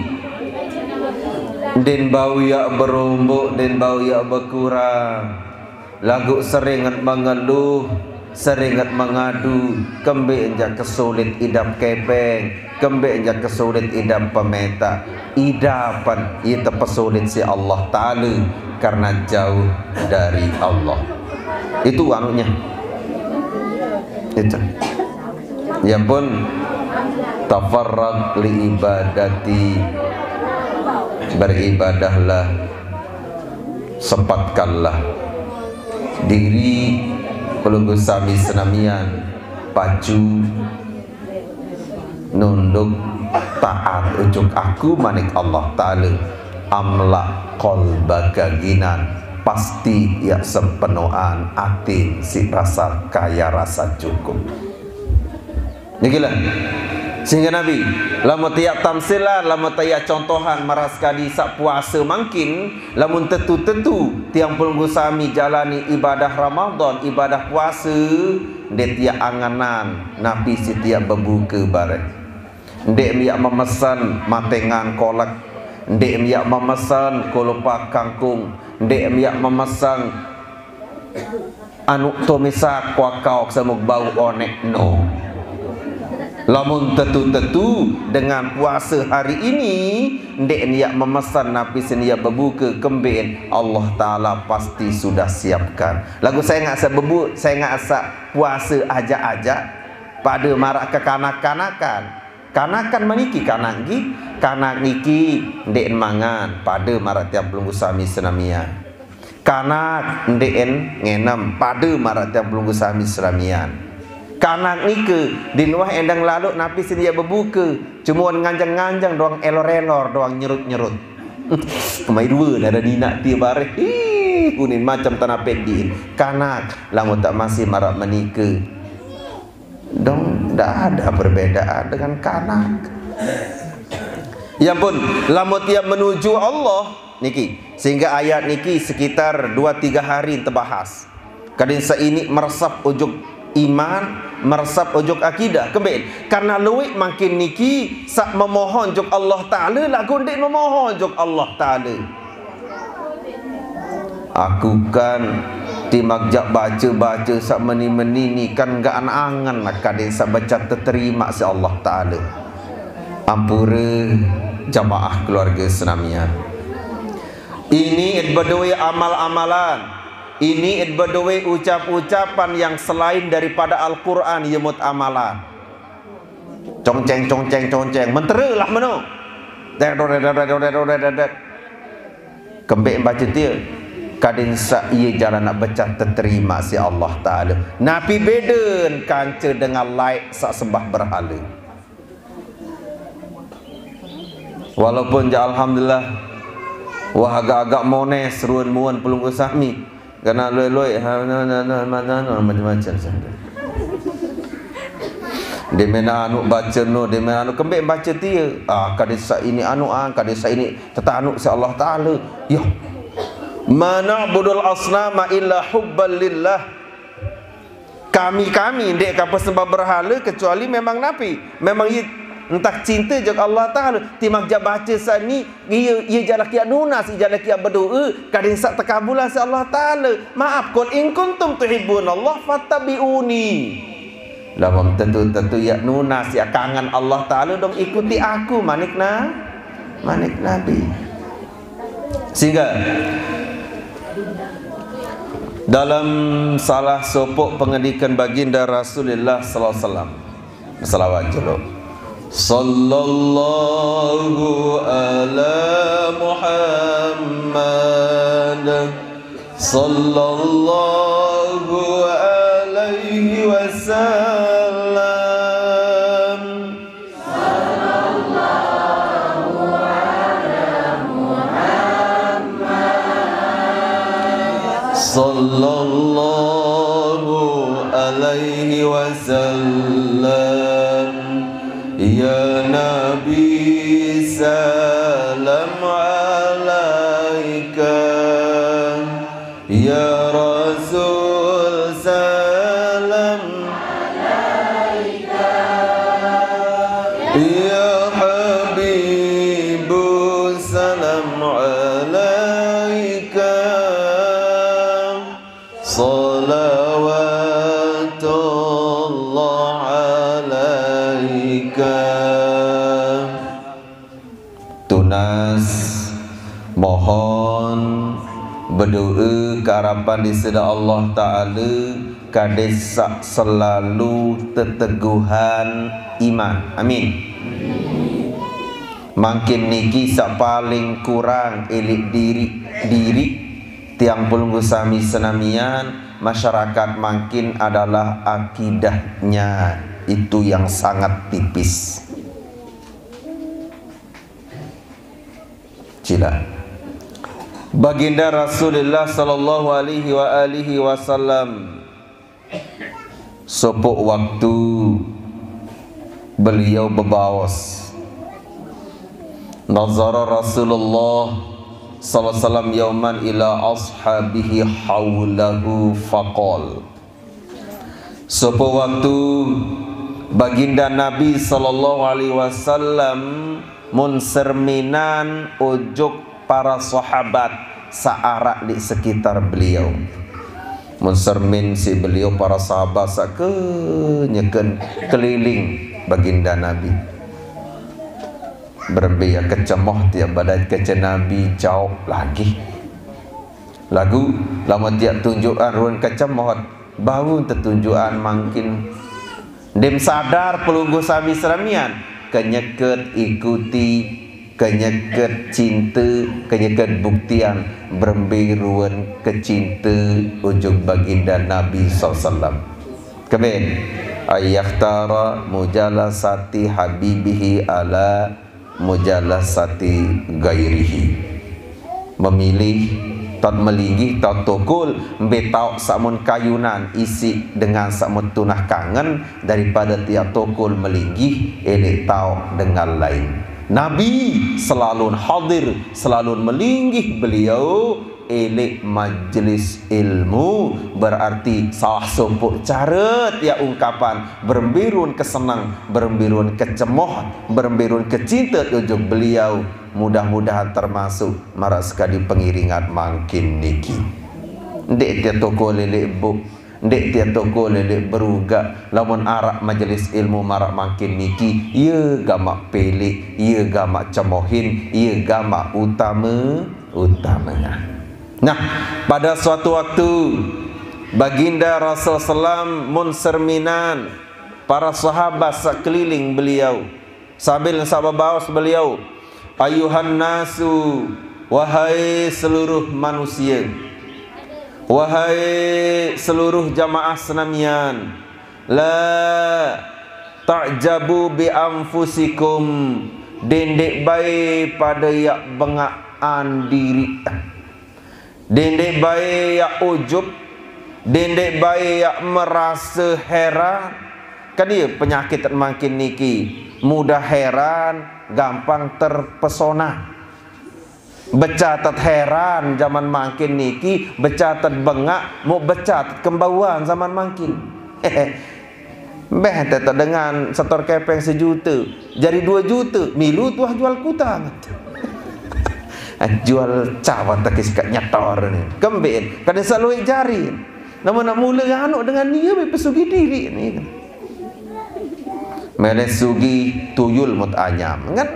Ndin bau yaq beromboq, ndin bau yaq bekurang. Laguq seringet mengeluh, seringet mengadu, kembeq jaq kesulit idap kepeng, kembeq jaq kesulit idap pemetaq. Idapan ie tepesulit siq Allah Taala karena jauh dari Allah. Itu anunya. Itu. Ya pun, tafarrag li ibadati, beribadahlah, sempatkanlah diri pelungguh sami senamian pacu nunduk taat ujung aku manik Allah Taala, amla qalbaka ghinan, pasti yaq sepenoan atin siq rasa kaya rasa cukup. Niki lah. Sehingga Nabi, lamun tiaq tamsilan, lamun tiaq contohan maraq sekadi saq puase mangkin, lamun tetu-tetu tiang pelungguh sami jalani ibadah Ramadan, ibadah puase, ndeq tiaq angenan napi siq tiaq bebuke bareh. Ndeq miaq memesen matengan kolek, ndeq miaq memesen kolopak kangkung, ndeq miaq memesen anuq tomisak kuakaok semuk bau oneq no. Lamun tetu-tetu dengan puase hari ini, ndeq niaq memesan napi seniaq bebuke kembeqn, Allah Taala pasti sudah siapkan. Laguq sengaq saq bebu-, sengaq saq puase ajaq-ajaq, pade maraq kekanak-kanakan. Kanakan meniki kanak nggih, kanak niki ndeqn mangan, pade maraq tiang pelungguh sami senamian. Kanak ndeqn ngenem, pade maraq tiang pelungguh sami senamian. Kanak nike ndin wah endang lalo napi seniaq bebuke, cume nganjeng-nganjeng doang, elor-elor doang, nyerut-nyerut. Mai due nare ninaq tie bareh. Ih, unin macem tanape din. Kanak, lamun taq masih maraq menike. Dong, dak ada perbedaan dengan kanak. Ya ampun, lamun tiap menuju Allah niki, sehingga ayat niki sekitar dua tiga hari tebahas. Kadin saini meresap ujuk iman, meresap ujuk akidah. Kemben, karena luwih mangkin niki sak memohon juk Allah Ta'ala lagu ndik memohon juk Allah Ta'ala. Aku kan timak jak baca-baca sak meni-meni ni kan enggak angan-angan lah kadin sak baca terterima si Allah Ta'ala. Ampura jamaah keluarga senamian. Ini id bedoe amal-amalan. Ini id bedoe ucap-ucapan yang selain daripada Al-Quran yemut amalan. Congceng, congceng, congceng. Mentera lah meno. Kembek baca tia. Kadin sak iya jalan nak becah terterima si Allah Ta'ala. Napi beden kanca dengan laik sak sembah berhala. Walaupun ja alhamdulillah, wah agak-agak mones ruan muan pelunggu sami. Kena loi-loi, ha, na, na, na, na, na, na, macam-macam saja. Dia main anu baca no, dia main anu kembek baca tia. Ah, kadin sak ini anu ah, kadin sak ini tetanu si Allah Ta'ala. Yo. Mana budul asnama illa hubban lillah. Kami-kami ndik ka pesembah berhala kecuali memang napi. Memang iya entah cinta jak Allah Ta'ala. Timak jak baca sani, iya, iya jalan kiak nunas, iya jalan kiak berdoa, kadin sak tekabulan si Allah Ta'ala. Maaf, qul in kuntum tuhibbunallah fattabi'uni. Lamun tentu-tentu yak nunas, yak kangen Allah Ta'ala, dong ikuti aku, manik na, manik Nabi. Sehingga dalam salah sopok pengendikan baginda Rasulullah sallallahu alaihi wasallam. Selawat jelo. Sallallahu ala Muhammad. Sallallahu alaihi wasallam. Sallallahu alaihi wasallam. Ya Nabi, salam alaika. Ya Rasul, salam alaika. Ya Habibu, salam alaika. Salawatullah alaika. Tunas, mohon, berdoa keharapan di sida Allah Ta'ala, kades sak selalu teteguhan iman. Amin. Mangkin niki sak paling kurang elik diri, diri tiang pelunggu sami senamian, masyarakat mangkin adalah akidahnya itu yang sangat tipis. Cila. Baginda Rasulullah sallallahu alaihi wa alihi wasallam, sopok waktu beliau bebaos. Nazara Rasulullah sallallahu alaihi wasallam yauman ila ashabihi haulahu faqal. Sopok waktu baginda Nabi sallallahu alaihi wasallam mun serminan ujuk para sahabat saarak di sekitar beliau. Mun sermin si beliau para sahabat sake nyeken keliling baginda Nabi. Berembe ya kecemoh tiap badan kece Nabi jauh lagi. Lagu lama tiap tunjukan ruan kecemoh bau tetunjukan mangkin. Dem sadar pelunggu sami seramian, kenyeket ikuti, kenyeket cinta, kenyeket buktian berembe ruan kecinta ujuk baginda Nabi sallallahu alaihi wasallam. Keben, ayahtara mujalasati habibihi ala mujalasati gairihi. Memilih, taoq melinggih, taoq tokol, mbe taoq saq mun kayunan isiq dengan saq mun tunah kangen, daripada tiaq tokol melinggih, eleq taoq dengan lain. Nabi selalu hadir, selalu melinggih beliau eleq majelis ilmu, berarti salah sopoq care tiaq ungkapan berembe ruen keseneng, berembe ruen kecemoh, berembe ruen kecinte ojok beliau. Mudah-mudahan termasuk maraq sekadi pengiringan mangkin niki. Ndeq tiaq tokol eleq buk, ndeq tiaq tokol eleq berugaq, lamun araq majelis ilmu maraq mangkin niki, ie gamaq peleq, ie gamaq cemohin, ie gamaq utame, utamengan. Nah, pada suatu waktu, Baginda Rasul sallam mun serminan, para sahabat sekeliling beliau, sambil saq bebaos beliau, "Ayuhan nasu, wahai seluruh manusia, wahai seluruh jamaah senamian, la ta'jabu bi anfusikum, dendeq bae pade yaq bengaqan diriq." Dendeq bae yaq ujub, dendeq bae yaq merase heran. Kan ie penyakit mangkin niki, mudah heran, gampang terpesona. Becatet heran zaman mangkin niki, becatet bengaq, muq becatet kembauan zaman mangkin. Mbeh, teto dengan setor kepeng sejute, jari due jute, milu tuah jual kutang. Jual cawat tekis kak nyetor ni. Kemben, kada saq lueq jari. Nama nak mule anu dengan ie be pesugi diri ni. Mele sugi tuyul mut anyam. Kan?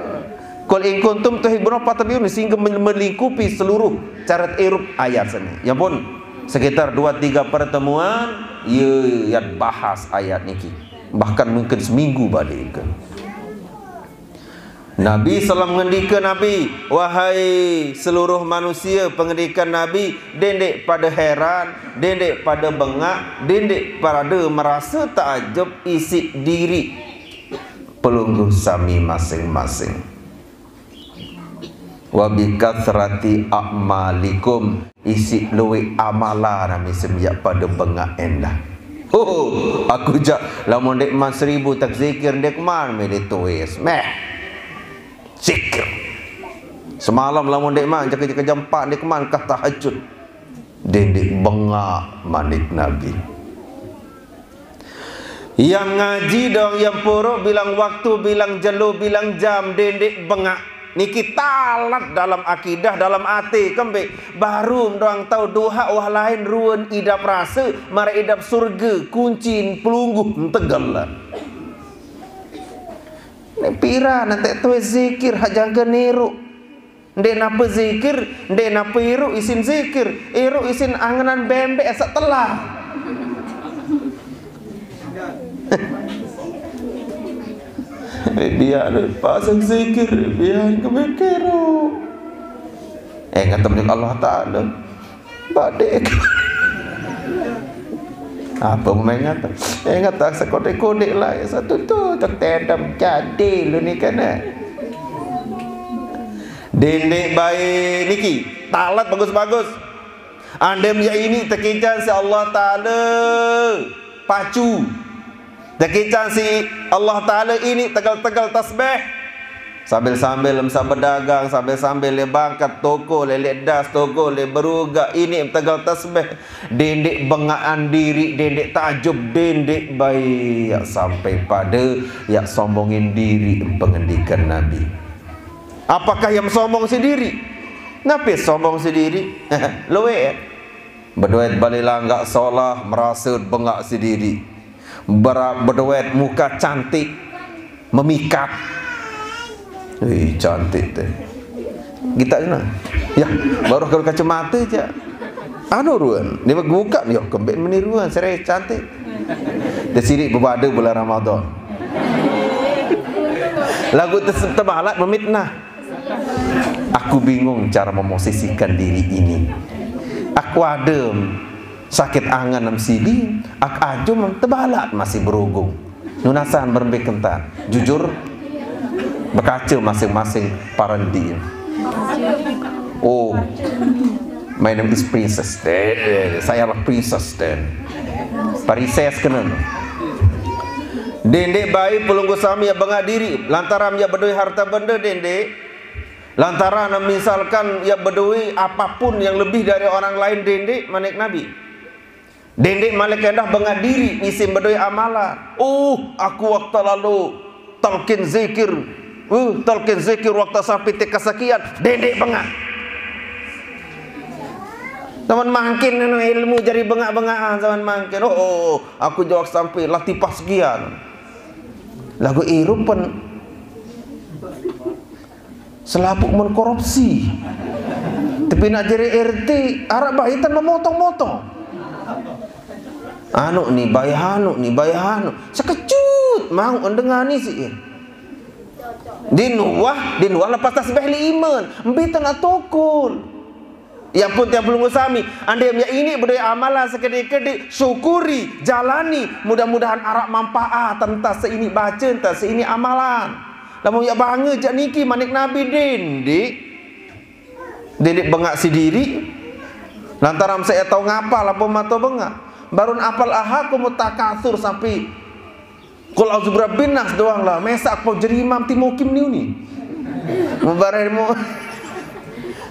Qul in kuntum tuhibbun, fattabi'uni, sehingga men-, melingkupi seluruh carat irup ayat sini. Ya pun, sekitar dua tiga pertemuan, ye yat bahas ayat niki. Bahkan mungkin seminggu balik ke. Nabi sallam ngendike Nabi, "Wahai seluruh manusia," pengendikan Nabi, "dendeq pade heran, dendeq pade bengaq, dendeq pade merase taajub isiq diriq pelungguh sami masing-masing. Wa bi kathrati a'malikum, isiq lueq amalan nami semiaq pade bengaq endah." Ho, aku jaq lamun ndeqman seribu tak zikir ndeqman mele tuis. Meh. Zikir. Semalam lamun ndeqman jaka-jaka jam empat ndeqman kah tahajud. Dendeq bengaq manik Nabi. Yang ngaji dong, yang puruk bilang waktu, bilang jelo, bilang jam, dendeq bengaq. Niki talat dalam akidah, dalam ate, kembeq. Baru doang tao doa wah lain ruen idap rase, maraq idap surge, kuncin pelungguh ntegel. Neq piran nteq tuis zikir haq jangke niruq. Ndeq nape zikir, ndeq nape iruq isin zikir, iruq isin angenan bembeq saq telah. Biar pasang zikir, biar kemikir. Eh, ngatem Allah Taala. Badik. Apa mengat? Ingat tak sekodik-kodik lah. Satu tu tertedam jadi lu ni kena. Dendeq bae niki, talat bagus-bagus. Andem ya ini tekican si Allah Taala pacu. Tekican si Allah Taala ini tegel-tegel tasbih. Sambil-sambil mesaq bedagang, sambil-sambil leq bangket toko, leq, leq das toko, leq berugaq, ini tegel tasbih. Dendeq bengaqan diriq, dendeq taajub, dendeq bae yaq sampai pade yaq sombongin diriq, pengendikan Nabi. Apakah yang sombong sendiri? Napi sombong sendiri? Lueq. Bedoet bale langgaq solah, merase bengaq sendiri. Bera-, bedoet muka cantik, memikat. Wih, cantik teh. Kita kena. Ya, baru kalau kacamata je. Anu ruan, dia buka, yo kembeq meni ruan, serai cantik. Dia sirik bebade bulan Ramadan. Lagu tes-, tebalat memitnah. Aku bingung cara memosisikan diri ini. Aku adem, sakit angen nem sidi, aku ajum tebalat masih berugung. Nunasan berembe kentan. Jujur, bekace masing-masing parendi. Oh, my name is Princess. Eh, saya adalah Princess then. Parises kena. Dendeq bae pelungguh sami yaq bengaq diriq, lantaran yaq bedoe harte bende dendeq. Lantaran misalkan yaq bedoe apapun yang lebih dari orang lain dendeq, manik Nabi. Dendeq malik endah bengaq diriq isiq bedoe amalan. Uh, aku waktu lalu talqin zikir. Uh, talqin zikir waktu sampai tingkat sekian, dendeq bengaq. Zaman mangkin anu ilmu jari bengaq-bengaqan zaman mangkin. Oh, oh, aku jawab sampai latifah sekian. Laguq irup pen selapuq mun korupsi. Tapi naq jari R T, araq bae tan memotong-motong. Anu ni, bae anu ni, bae anu. Sekecut, mau ndengani siq. Din wah, din wah lepas tasbih limen. Mbe tan tokol. Ya pun tiang pelungguh sami, andai yaq iniq bedoe amalan sekediq-kediq, syukuri, jalani, mudah-mudahan araq manpaat entah saq iniq bace, entah saq iniq amalan. Lamun yaq bange jaq niki manik Nabi, dendeq. Dendeq bengaq siq diriq. Lantaran saq yaq tao ngapal lamun mato bengaq. Barun apal alhakumut takatsur sampai Qul a'udzu birabbin nas doang lah, mesaq pau jari imam timukim niuni. Mubareh mu-,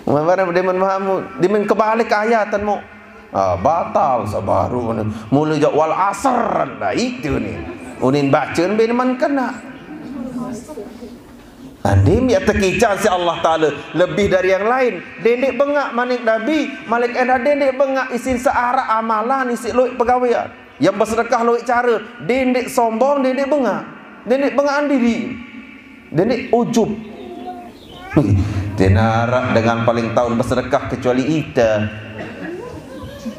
mubareh demen Mahmud, demen kebalik ayatan mu. Ah, batal sebaru ni. Mule jaq wal asr, dait tu ni. Unin bace mbe man kena. Andin yaq tekican siq Allah Taala lebih dari yang lain. Dendeq bengaq manik Nabi, malik endah dendeq bengaq isiq saq araq amalan isiq lueq pegawean. Yang besedekah lueq care, dendeq sombong, dendeq bengaq. Dendeq bengaqan diriq. Dendeq ujub. Ndeqn araq dengan paling taun besedekah kecuali ite.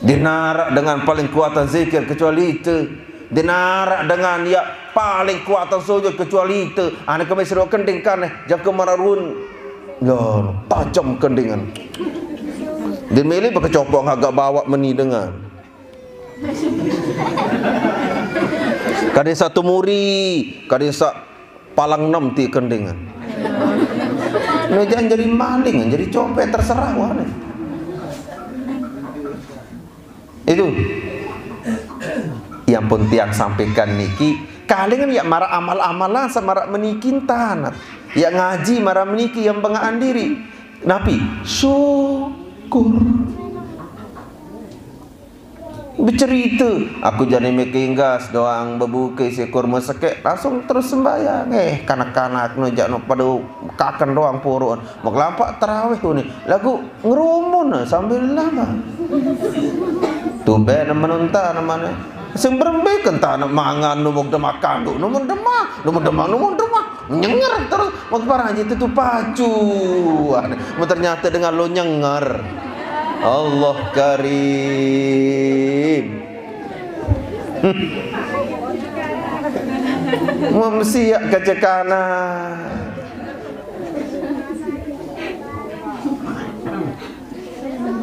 Ndeqn araq dengan paling kuatan zikir kecuali ite. Ndeqn araq dengan yaq paling kuatan sujud kecuali ite. Ane kembe seduq kending kan, eh, jangke maraq ruen. Loh, tajem kendingan. Ndeqn mele bekecopong agak bawaq meni dengan. Kadin saq tumuri, kadin saq palang enem ti kendingan. No, jangan jadi maling, jadi copet, terserah wah ne. Itu yang pun tiang sampaikan niki, kalingan yaq maraq amal-amalan saq maraq meniki entan. Yaq ngaji maraq meniki yang bengaqan diriq. Napi? Syukur. Becerite, aku jari mekinggas doang bebuke siq kurme sekeq, langsung terus sembahyang. Eh, kanak-kanak no jaq no pade kaken doang poroqan. Mekelampaq terawih uni. Laguq ngerumun sambil lama. Tumben menuntan mane. Sing berembe kentan mangan numuk demak kanduk, numuk demak, numuk demak, numuk demak. Nyenger terus. Mau parah aja itu tuh pacu. Mau ternyata dengan lo nyenger. Allah Karim. Memsiak kecekana.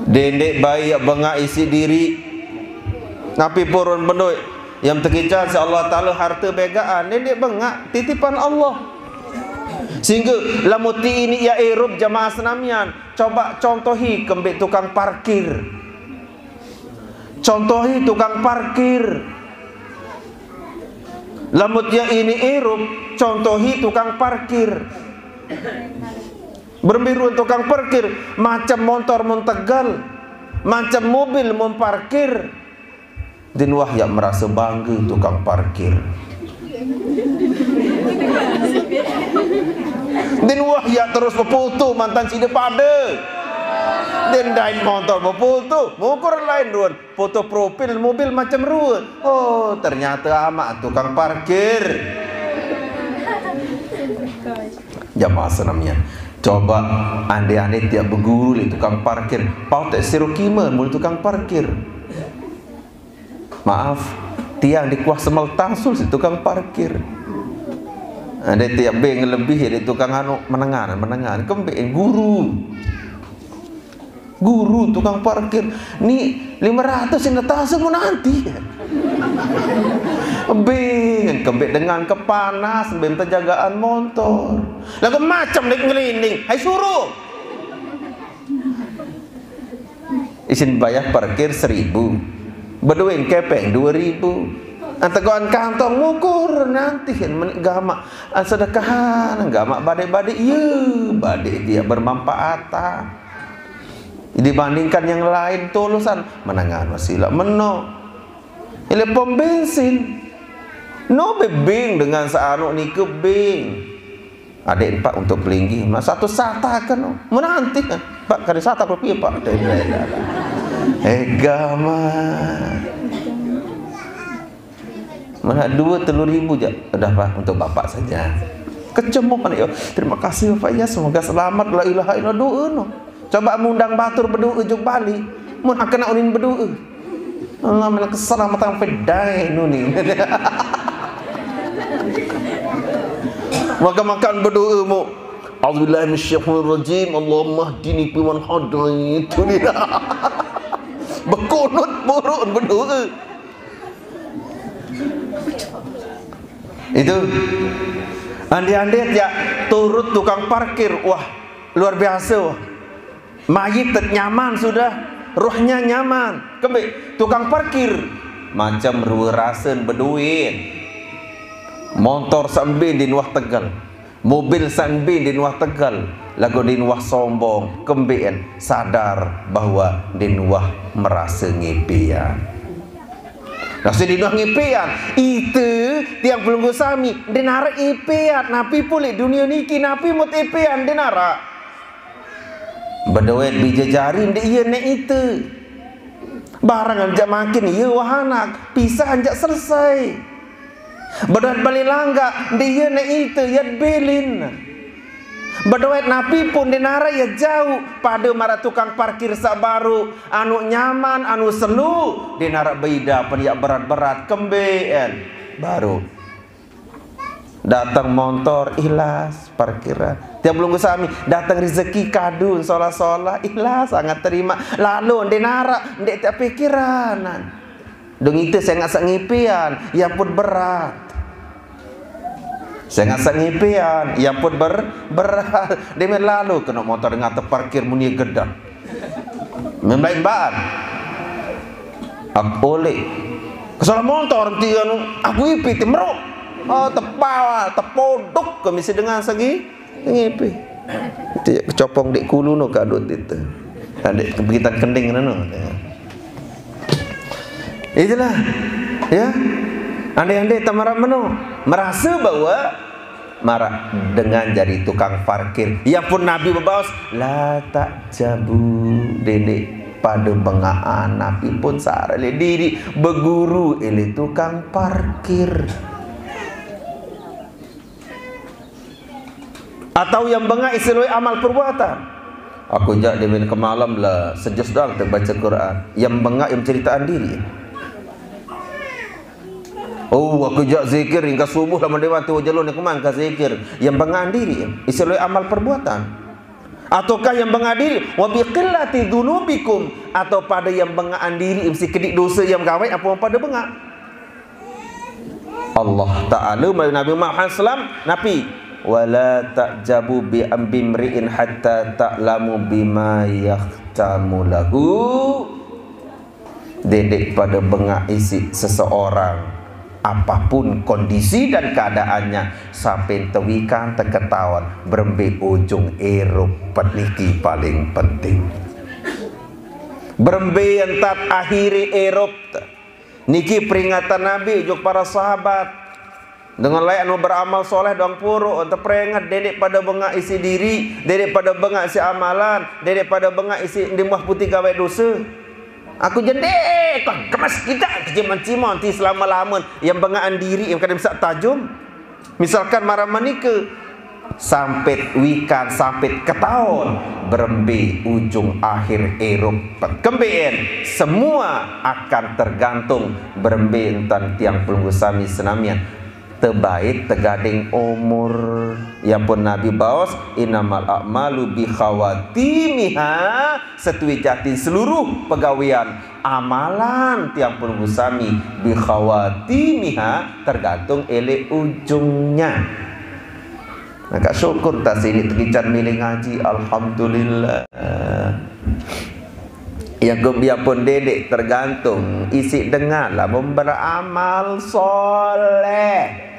Dendeq bae yaq bengaq isiq diriq. Napi purun bendoe? Yang tekican siq Allah Taala harte begaqan, dendeq bengaq titipan Allah. Sehingge lamun tiq iniq yaq irup jemaah senamian, coba contohi kembeq tukang parkir. Contohi tukang parkir. Lamun tiq iniq irup, contohi tukang parkir. Berembe ruen tukang parkir, macem montor mun tegel, macem mobil mun parkir. Ndeqn wah yaq merase bangge tukang parkir. Ndeqn wah yaq terus befoto mantan side pade. Ndeqn dait montor befoto, mukur lain ruen. Foto profil mobil macem rue. Oh, ternyate amaq tukang parkir. Jamaah senamian. Coba ande-ande tiap beguru leq tukang parkir. Pau teq siro kime mule tukang parkir. Maaf, tiang dikuah semel tasul siq tukang parkir. Ande tiap be ngelebih leq tukang anu menengan, menengan. Kembeq guru. Guru tukang parkir, ni lime ratus sine tase mun nanti. Beng, kembeq dengan kepanas, beng tejagaan montor. Laguq macem leq ngelining, hai suruh. Isin bayar parkir seribu, bedoen kepeng dua ribu. Antegoan kantong mukur nanti kan menik gamak, ah, sedekahan gamak badik-badik, iya, badik dia bermanfaatan dibandingkan yang lain. Tolosan menangan wasilah meno. Ile pom bensin. No be bing dengan seanu nike bing. Adek, Pak, untuk pelinggih, mas, satu sata kan, oh. Menanti kan, Pak, kada sata kopi, Pak. Eh, gama. Mana dua telur ribu je. Udah, Pak, untuk Bapak saja. Kecemuk kan, ya. Terima kasih, Bapak, ya. Semoga selamat. La ilaha illallah, doa no. Coba mundang batur bedoa jug Bali. Mun akena unin bedoa. Allah, mana keselamatan pedai nuni. Maka makan bedoa mu. A'udzubillahi minasyaitonirrajim. Allahumma hdini fiman hadait. Bekunut buruk bedoa. Itu ande-ande ya turut tukang parkir, wah, luar biasa, wah. Mayit tet nyaman sudah, rohnya nyaman. Kembe tukang parkir, macam rua rasen bedoen. Montor sambe din wah tegal, mobil sambe din wah tegal, lagu din wah sombong. Kembean sadar bahwa din wah merasa ngepean. Nasi dino ngipian, ite tiang pelungguh sami, denare ipian, napi pulih dunia niki, napi mut ipian denara. Bedoet bija jari nde iya ne ite. Barang anjak makin iya wahanak, pisah anjak selesai. Bedoet balik langga, nde iya ne ite, yat bilin. Bedoet napi pun denara ya jauh, pada mara tukang parkir sak baru, anu nyaman, anu selu, denara beida pen yak berat-berat, kembeen baru. Datang montor, ilas parkiran. Tiap belunggu sami, datang rezeki kadun, solah-solah, ilas sangat terima. Lalu denara, ndek tak pikiranan. Dong ite sengak sak ngipian, ya pun berat. Sengak sak ngipian, ya pun ber, berat. Dia main lalu kena motor dengan terparkir muni gedang. Memlain baan. Aku oleh. Kesalah motor nanti anu, aku ipi timro. Oh, tepawa, tepodok kami sedang segi. Ngipi. Itu ya kecopong dek kulu no kadut itu. Adik kebitan kending no. Itulah, ya. Andai-andai tak marah meno, merasa bahwa marah dengan jadi tukang parkir. Ya pun Nabi bebaos, la tak jabu dede pada bengaan. Nabi pun sare le diri beguru ele tukang parkir. Atau yang bengak isi luai amal perbuatan. Aku jak dia main kemalam lah, sejus doang terbaca Quran. Yang bengak yang ceritaan diri. Oh, aku jak zikir hingga subuh lah mendewan tu jalur ni kemang ke zikir. Yang bengak diri, isi luai amal perbuatan. Ataukah yang bengak diri, wa biqillati dzunubikum, atau pada yang bengak diri, mesti kedik dosa yang gawai apa pada bengak. Allah Ta'ala melalui Nabi Muhammad sallam, napi? Wala ta'jabu bi bimri'in hatta ta'lamu bima yahtamu lahu. Dedek pada bengak isi seseorang, apapun kondisi dan keadaannya, sampai tewikan teketahuan berembe ujung erup. Peniki paling penting. Berembe entat akhiri erup. Niki peringatan Nabi juk para sahabat. Dengan lain anu beramal soleh doang puru, ente peringat, dedek pada bengak isi diri, dedek pada bengak isi amalan, dedek pada bengak isi ndimah putih gawe dosa. Aku jedek, kok gemes kita keciman-ciman ti selama-laman yang bengakan diri yang kadang bisa tajum. Misalkan marah menika, sampit wikan, sampit ketaun, berembe ujung akhir erup. Kembeen, semua akan tergantung berembe entan tiang pelungguh sami senamian. Tebait tegading umur. Yang pun Nabi baos, innamal a'malu bi khawatimiha, setuwi jatin seluruh pegawean amalan tiang pelungguh sami bi khawatimiha, tergantung ele ujungnya. Maka syukur tak sini tegican milih ngaji, alhamdulillah. Yang kebiapun dedik tergantung isi dengan lamun beramal soleh.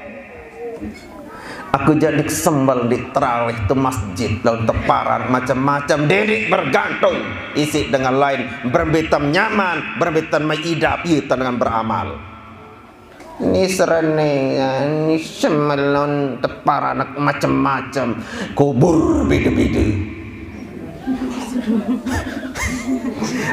Aku jadi sembel di terawih tu masjid lawan teparan macam-macam, dedik bergantung isi dengan lain, berembitan nyaman, berembitan maidap, iya dengan beramal. Ni serene, ya, ni semelon tepar anak macam-macam. Kubur beda-beda.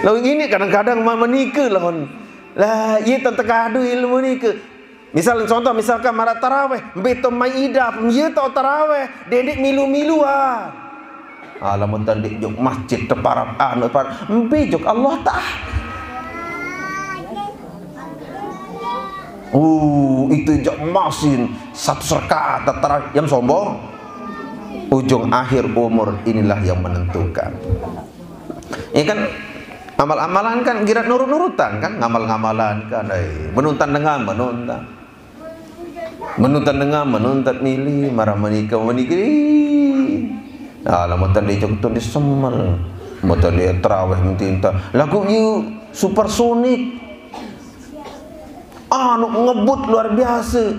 Lalu ini kadang-kadang ma-, menikah lawan. Lah, iya tak tekadu ilmu ni ke. Misal, contoh, misalkan marak taraweh, beto mai idap, iya tak taraweh, dedik milu-miluan. Alamun tadi jok masjid teparat anu, teparat. Embe jok Allah Ta'ala. Uh, itu jok masin satu rakaat tarawih yang sombong. Ujung akhir umur inilah yang menentukan. Ya kan, amal-amalan kan girat nurut-nurutan kan, ngamal-ngamalan kan, eh, menuntan dengan menuntan. Menuntan dengan menuntan milih, marah menikah menikah. Nah, lamun tadi jok tu disemel. Mau tadi terawih minta lagu you supersonik. Anu ngebut luar biasa.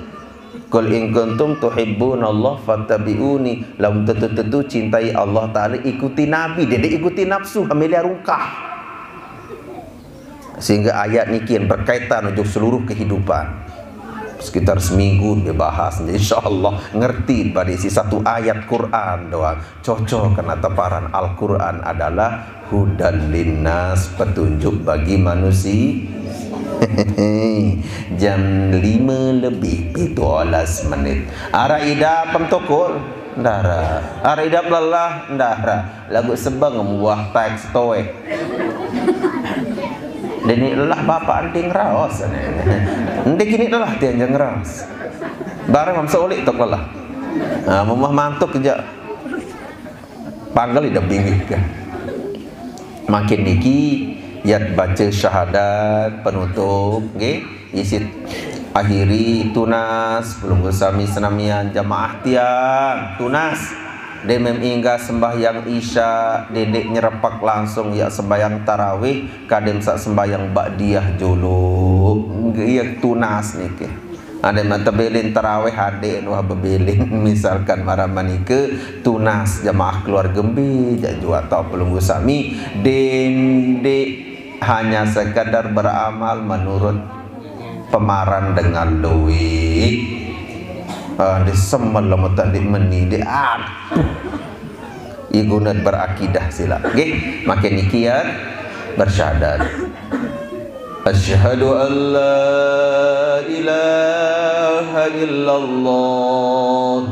Qul in kuntum tuhibbunallah fattabi'uni. Lamun tentu-tentu cintai Allah Ta'ala, ikuti Nabi. Jadi ikuti nafsu, hamilih rungkah. Sehingga ayat niki yang berkaitan untuk seluruh kehidupan. Sekitar seminggu dia bahas. Insya Allah ngerti pada isi satu ayat Quran doang. Cocok karena teparan Al-Quran adalah hudan linnas, petunjuk bagi manusia. Jam lima lebih tujuh belas menit. Arah ida pemtokol, ndara. Arah ida lelah, ndara. Lagu sebang buah teks toek. Dini lelah bapak anting raos. Nanti kini lelah tiang jeng raos. Barang mamsa ulik tok lelah. Nah, mamah mantuk kejak. Panggal ida bingit kan. Makin niki yat baca syahadat penutup, nggih. Isit akhiri tunas, pelungguh sami senamian jamaah tiang tunas. Demem inggah sembahyang isya, dedek nyerepak langsung ya sembahyang tarawih, kadem sak sembahyang ba'diyah jolo. Nggih, ya tunas niki. Ada mata belin tarawih, ada wah bebelin. Misalkan marah manika tunas jamaah keluarga embe, jak jua tau pelungguh sami, dendek hanya sekadar beramal menurut pemaran dengan luwih. Ah, di semel lama tadi meni, di aduh. Igunat berakidah sila. Nggih, makin niki ya bersyahadat. Asyhadu an la ilaha illallah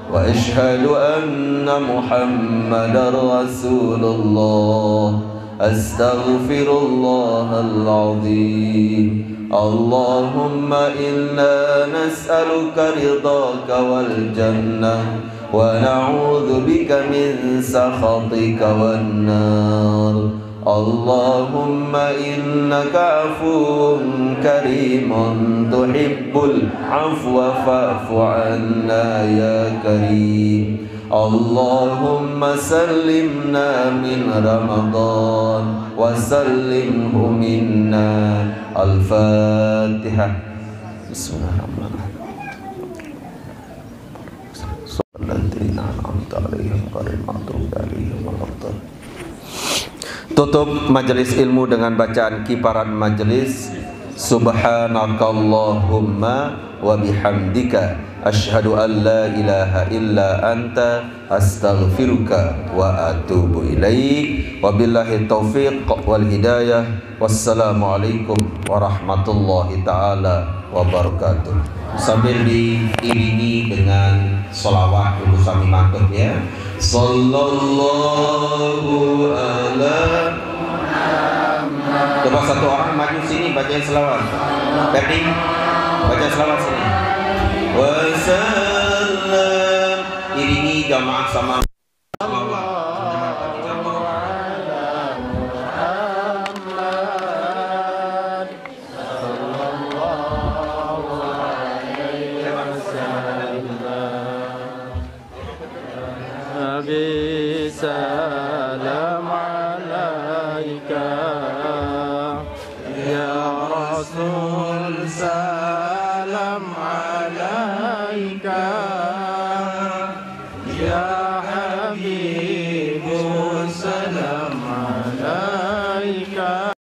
wa asyhadu anna Muhammadar Rasulullah. Astaghfirullahal azim. Allahumma inna nas'aluka ridhaka wal jannah wa na'udzu bika min sakhatika wan nar. Allahumma innaka afuwun karimun tuhibbul afwa fa'fu anna ya karim. Allahumma sallimna min Ramadan wa sallimhu minna. Al-Fatihah. Bismillahirrahmanirrahim. Alladzina an'amta 'alaihim ghairil maghdubi 'alaihim waladdallin. Tutup majelis ilmu dengan bacaan kiparat majelis, Subhanakallahumma wa bihamdika, asyhadu an la ilaha illa anta, astaghfiruka wa atubu ilaik. Wabillahi taufiq wal hidayah. Wassalamualaikum warahmatullahi taala wabarakatuh. Sambil diiringi dengan salawat, ibu sami mantep ya. Sallallahu ala. Coba satu orang maju sini, bacain salawat. Ferdi, baca salawat sini. Wasallam. Iringi jamaah sama.